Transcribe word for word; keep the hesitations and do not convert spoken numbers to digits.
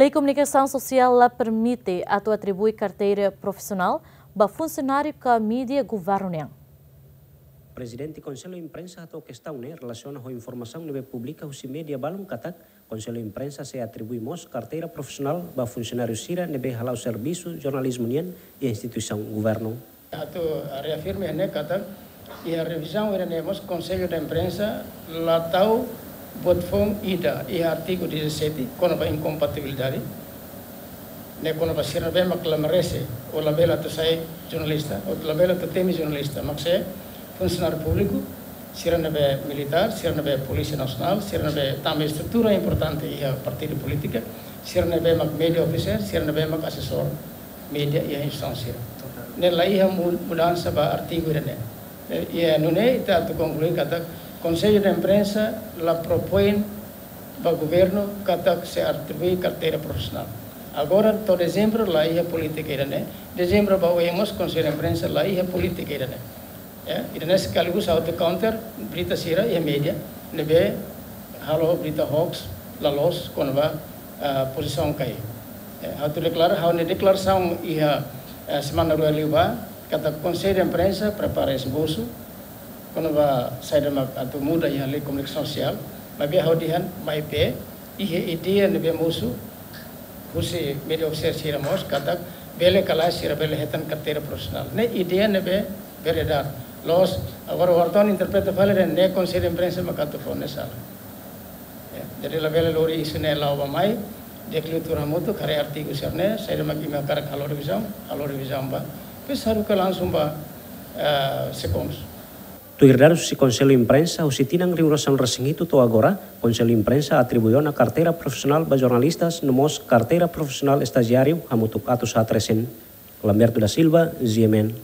Lei Komunikasaun Sosiál la permite atu atribui karteira profisionál ba funsionáriu ka mídia governu nian. Prezidente Konsellu Imprensa hato'o kestaun ne'e relasiona ho informasaun ne'ebé publika husi mídia balun katak Konsellu Imprensa sei atribui mós karteira profisionál ba funsionáriu sira ne'ebé hala'o servisu jornalizmu nian iha instituisaun governu. Atu reafirma ne'e katak iha revizaun ida-ne'e mós Konsellu da Imprensa la tau buat foun ida iha artigu dezassete kona-ba inkompatibilidade ne'e kona-ba sira ne'ebé mak la merese ou labele atu sai jornalista ou labele atu temi jornalista, mak se funsionáriu públiku, sira ne'ebé militár, sira ne'ebé Polísia Nasionál, sira ne'ebé tanba estrutura importante iha partidu polítika, sira ne'ebé mak mídia ofisiál, sira ne'ebé mak asesór mídia iha instituisaun sira. Ne'e la iha mu-, mudansa ba artigu ida-ne'e. Eh, iha nune'e ita atu konklui katak Konsellu da Imprensa la propoin ba governu katak sei atribui karteira profisionál. Agora to'o dezembru la iha polítika ida-ne'e. Dezembru ba oin mós Konsellu da Imprensa la iha polítika ida-ne'e. Ya, ida-ne'e sekaligus atu counter berita sira iha mídia ne'ebé halo berita hoax la loos kona-ba, ah, pozisaun ka lae. Ya, atu deklara, ha'u-nia deklarasaun iha, eh, semana rua liubá katak Konsellu da Imprensa prepara esbosu kona-ba saida mak atu muda iha Lei Komunikasaun Sosiál, maibé ha'u dehan maibé iha ideia ne'ebé mosu husi mídia ofisiál sira mós katak bele ka lae sira bele hetan karteira profisionál. Ne'e ideia ne'ebé beredar. Loos, agora wartawan interpreta fali dehan ne'e Konsellu da Imprensa mak atu fó, ne'e sala. Ya, jadi labele lori isu ne'e la'o ba mai, dekliu tuur hamutuk, haree artigu sira-ne'e, saida mak imi hakarak halo revizaun, halo revizaun ba. Depois haruka langsung ba, eh, SECONSU. Tuir dadus husi Konsellu Imprensa, husi tinan rihun ruasaan-resin-hitu to'o agora, Konsellu Imprensa atribui ona karteira profisionál ba jornalistas no mós karteira profisionál estajiáriu hamutuk atus haat resin. Lamberto da Silva, G M N,